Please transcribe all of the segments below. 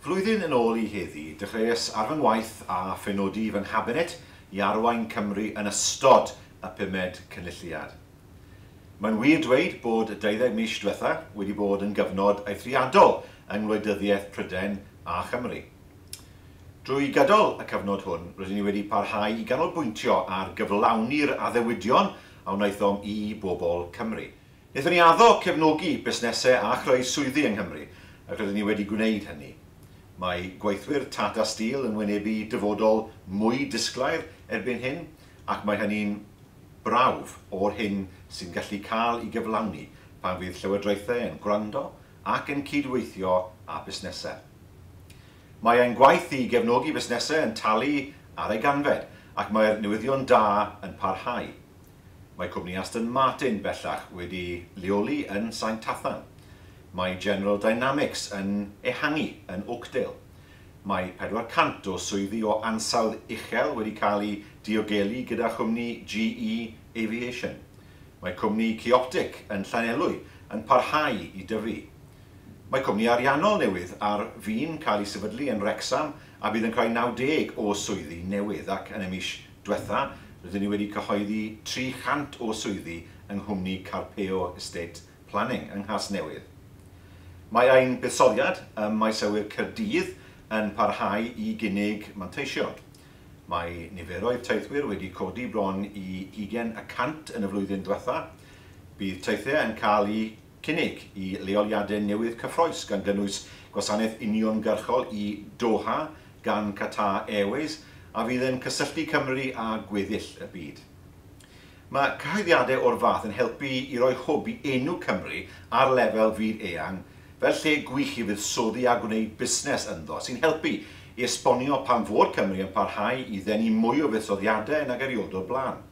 Flwyddyn yn ôl i heddi, dechreuais ar fy ngwaith a phenodi fy nghabinet i arwain Cymru yn ystod y pumed Cynulliad. Mae'n wir dweud bod y 20 mis diwetha wedi bod yn gyfnod eithriadol yng ngwleidyddiaeth Prydain a Chymru. Drwy gydol y cyfnod hwn, rydyn ni wedi parhau i ganolbwyntio ar gyflawni'r addewidion a wnaethom i bobl Cymru. Wnaethon ni addo cefnogi busnesau a chreu swyddi yng Nghymru, ac rydyn ni wedi gwneud hynny. Mae gweithwyr Tata Steel yn wynebu dyfodol mwy disglair erbyn hyn, ac mae hynny'n brawf o'r hyn sy'n gallu cael ei gyflawni pan fydd llywodraethau yn gwrando ac yn cydweithio â busnesau. Mae ein gwaith i gefnogi busnesau yn talu ar ei ganfed, ac mae'r newyddion da yn parhau. Mae cwmni Aston Martin bellach wedi leoli yn Sain Tathan. Mae General Dynamics yn ehangu yn Oakdale. Mae 400 o swyddi o ansawdd uchel wedi cael eu diogelu gyda chwmni GE Aviation. Mae cwmni Qioptiq yn Llanelwy yn parhau i dyfu. Mae cwmni ariannol newydd ar fin cael ei sefydlu yn Wrecsam a bydd yn creu 90 o swyddi newydd, ac yn y mis diwetha rydyn ni wedi cyhoeddi 300 o swyddi yng nghwmni Carpeo Estate Planning yng Nghasnewydd. Mae ein buddsoddiad ym maes awyr Caerdydd yn parhau i gynnig manteision. Mae niferoedd teithwyr wedi codi bron i 20% yn y flwyddyn diwetha. Bydd teithiau yn cael eu cynnig i leoliadau newydd cyffrous, gan gynnwys gwasanaeth uniongyrchol i Doha gan Qatar Airways, a fydd yn cysylltu Cymru â gweddill y byd. Mae cyhoeddiadau o'r fath yn helpu i roi hwb i enw Cymru ar lefel fyd eang fel lle gwych i fuddsoddi a gwneud busnes ynddo, sy'n helpu i esbonio pam fod Cymru yn parhau i ddenu mwy o fuddsoddiadau nag erioed o'r blaen.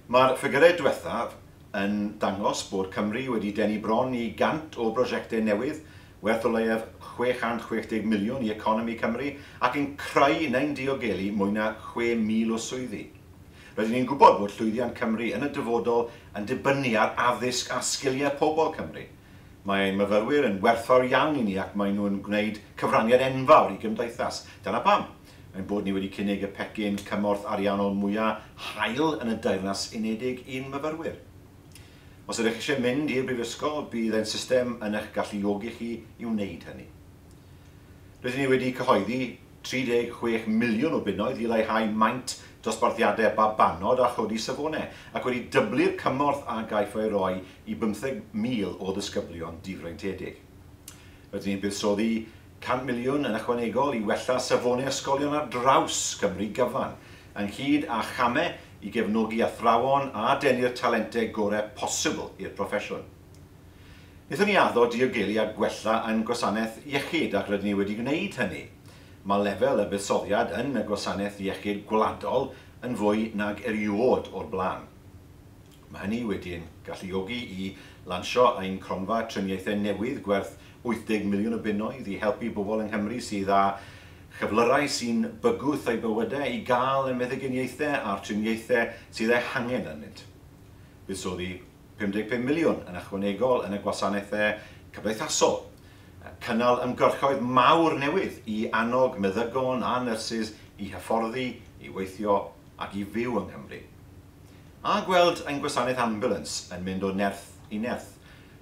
Mae'r ffigyrau diwethaf yn dangos bod Cymru wedi denu bron i 100 o brosiectau newydd, werth o leiaf 660 miliwn i economi Cymru, ac yn creu neu'n diogelu mwy na 6,000 o swyddi. Rydyn ni'n gwybod bod llwyddiant Cymru yn y dyfodol yn dibynnu ar addysg a sgiliau pobl Cymru. Mae ein myfyrwyr yn werthfawr iawn i ni ac maen nhw'n gwneud cyfraniad enfawr i gymdeithas. Dyna pam ein bod ni wedi cynnig y pecyn cymorth ariannol mwyaf hael yn y Deyrnas Unedig i'n myfyrwyr. Os ydych eisiau mynd i'r brifysgol, bydd ein system yn eich galluogi chi i wneud hynny. Rydyn ni wedi cyhoeddi 36 miliwn o bunnoedd i leihau maint dosbarthiadau babanod a chodi safonau, ac wedi dyblu'r cymorth a gaiff ei roi i 15,000 o ddisgyblion difreintiedig. Rydyn ni'n buddsoddi 100 miliwn yn ychwanegol i wella safonau ysgolion ar draws Cymru gyfan, ynghyd â chamau i gefnogi athrawon a denu'r talentau gorau posibl i'r proffesiwn. Wnaethon ni addo diogelu a gwella ein gwasanaeth iechyd, ac rydyn ni wedi gwneud hynny. Mae lefel y buddsoddiad yn y gwasanaeth iechyd gwladol yn fwy nag erioed o'r blaen. Mae hynny wedi'n galluogi i lansio ein cronfa triniaethau newydd gwerth 80 miliwn o bunnoedd i helpu bobl yng Nghymru sydd â chyflyrau sy'n bygwth eu bywydau i gael y meddyginiaethau a'r triniaethau sydd eu hangen arnynt. Buddsoddi 55 miliwn yn ychwanegol yn y gwasanaethau cymdeithasol. Cynnal ymgyrchoedd mawr newydd i annog meddygon a nyrsys i hyfforddi, i weithio ac i fyw yng Nghymru. A gweld ein gwasanaeth ambulance yn mynd o nerth i nerth,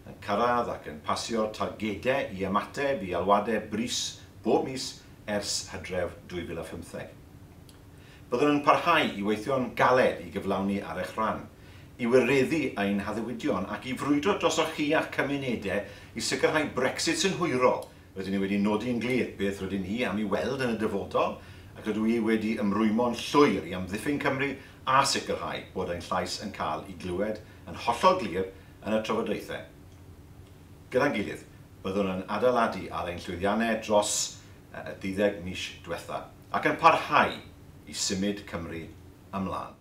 yn cyrraedd ac yn pasio'r targedau i ymateb i alwadau brys bob mis ers Hydref 2015. Byddwn yn parhau i weithio'n galed i gyflawni ar eich rhan, i wireddu ein haddewidion ac i frwydro drosoch chi a'ch cymunedau i sicrhau Brexit synhwyrol. Rydyn ni wedi nodi'n glir beth rydyn ni am ei weld yn y dyfodol, ac rydw i wedi ymrwymo'n llwyr i amddiffyn Cymru a sicrhau bod ein llais yn cael ei glywed yn hollol glir yn y trafodaethau. Gyda'n gilydd, byddwn yn adeiladu ar ein llwyddiannau dros y 12 mis diwetha ac yn parhau i symud Cymru ymlaen.